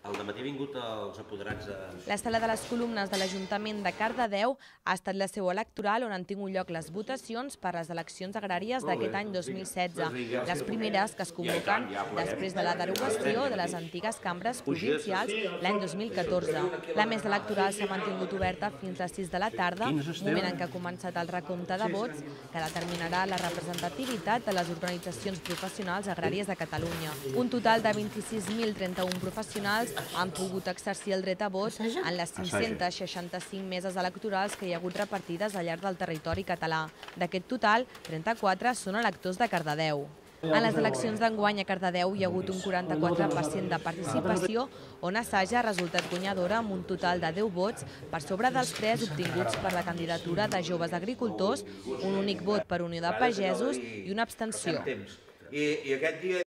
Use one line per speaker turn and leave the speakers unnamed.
Al dematí ha vingut els apoderats de...
La sala de les columnes de l'Ajuntament de Cardedeu ha estat la seu electoral on han tingut lloc les votacions per les eleccions agràries d'aquest any 2016, les primeres que es convoquen després de la derogació de les antigues cambres provincials l'any 2014. La mesa electoral s'ha mantingut oberta fins a les 6 de la tarda, moment en què ha començat el recompte de vots que determinarà la representativitat de les organitzacions professionals agràries de Catalunya. Un total de 26.031 professionals han pogut exercir el dret a vot en les 565 meses electorals que hi ha hagut repartides al llarg del territori català. D'aquest total, 34 són electors de Cardedeu. En les eleccions d'enguany a Cardedeu hi ha hagut un 44% de participació, on Assaja ha resultat guanyadora amb un total de 10 vots per sobre dels 3 obtinguts per la candidatura de Joves Agricultors, un únic vot per Unió de Pagesos i una abstenció.